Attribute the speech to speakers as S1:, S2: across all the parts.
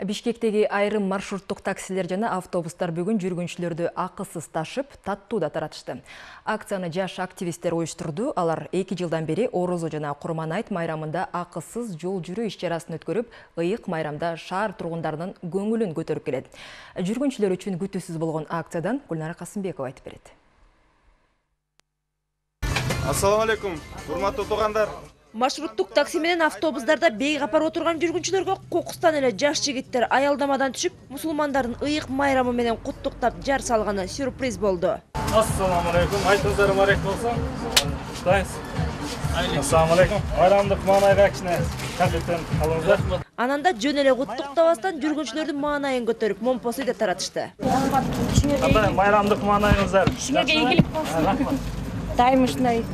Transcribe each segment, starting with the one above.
S1: Бишкектеги айрым маршруттук таксилер жана автобустар бүгүн жүргүнчүлөрдү акысыз ташып, таттууда таратышты. Акцияны жаш активисттер уюштурду. Алар 2 жылдан бери Орозо жана Курманайт майрамында акысыз жол жүрүү иш-чарасын өткөрүп, ыйык майрамда шаар тургундарынын көңүлүн көтөрүп келет. Жүргүнчүлөр үчүн күтүүсүз болгон акциядан Гүлнара Касымбекова айтып берет.
S2: Ассаламу алейкум, урматтуу туугандар.
S3: Маршруттук такси менен автобустарда бейгапар отурган жүргүнчүлөргө кокустан эле жаш жигиттер аялдамадан түшүп, мусулмандардын ыйык майрамы менен куттуктап жар салганы сюрприз болду.
S2: Ассаламу алейкум, айтыңыздар марек болсо. Дайынсыз. Ассаламу алейкум. Байрамдык маанайга кичине конфеттен алыңыздар.
S3: Ананда жөн эле куттуктабастан жүргүнчүлөрдүн маанайын көтөрүп, момпосу да таратышты.
S2: Кандай байрамдык маанайыңыздар?
S4: Сиңерге ийгилик болсун. Дайым ушундай.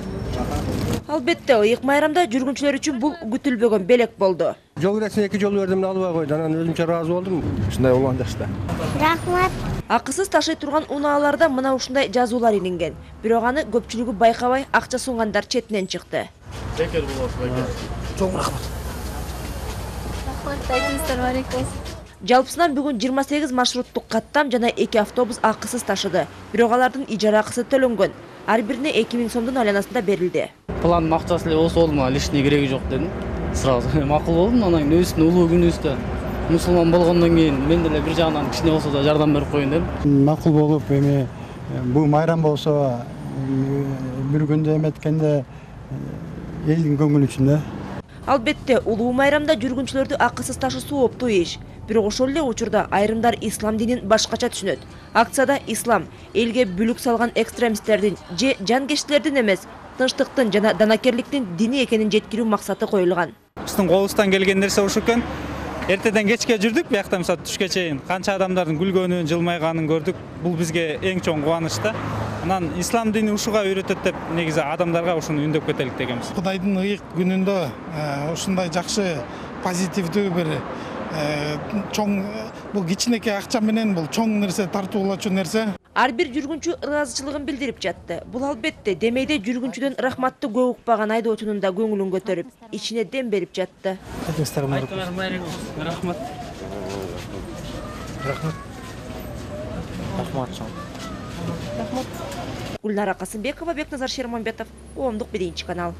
S3: Албетте, ыйык майрамда жүргүнчүлөр үчүн бул күтүлбөгөн белек болду.
S5: Жол киресине 2 жол бердим, албай койду. Анан өзүмчө ыраазы болдум. Ушундай болгон жакшы.
S4: Рахмат.
S3: Акысыз ташый турган унааларда мына ушундай жазуулар илинген. Бирок аны көпчүлүгү байкабай, акча сунгандар четинен чыкты.
S2: Бекер болосуз, бекер.
S5: Чоң рахмат.
S4: Рахмат, айтыңыздар марек болсун.
S3: Жалпысынан бүгүн 28 маршруттук каттам жана 2 автобус акысыз ташыды. Бирок алардын ижара акысы төлөнгөн. Ар бирине 2000 сомдун айланасында берилди.
S6: Пландын акчасы эле болсо болду, мага лишний кереги жок дедим. Сразу макул болдум. Анан кийин өзүнүн улуу күнүбүздө мусулман болгондон кийин мен деле бир жагынан кичине болсо да жардам берип коеюн дедим.
S7: Макул болуп, эми бул майрам болсо бир күндө эметкенде элдин көңүлү үчүн да.
S3: Албетте, улуу майрамда жүргүнчүлөрдү акысыз ташы сооптуу иш. Бирок ошол эле учурда айрымдар ислам динин башкача түшүнөт. Акцияда ислам элге бүлүк салган экстремисттердин же жанкечтилердин эмес, тынчтыктын жана данакерликтин дини экенин жеткирүү максаты коюлган.
S8: Биздин колубуздан келген нерсе ушул экен. Эртеден кечке жүрдүк, биякта мисалы түшкө чейин канча адамдардын күлгөнүн, жылмайганын көрдүк. Бул бизге эң чоң кубаныч да. Анан ислам дини ушуга үйрөтөт деп негизи адамдарга ушуну үндөп кетелик дегенбиз.
S9: Кудайдын ыйык күнүндө ушундай жакшы позитивдүү бир чоң бул кичинекей акча менен бул чоң нерсе, тартуулачу нерсе.
S3: Ар бир жүргүнчү ыраазычылыгын билдирип жатты. Бул албетте демейде жүргүнчүдөн рахматты көп укпаган айдоочунун да көңүлүн көтөрүп, ичине дем берип жатты.
S6: Рахмат.
S5: Рахмат. Рахмат.
S3: Гүлнара Касымбекова, Бекназар Шермамбетов, Коомдук 1 канал.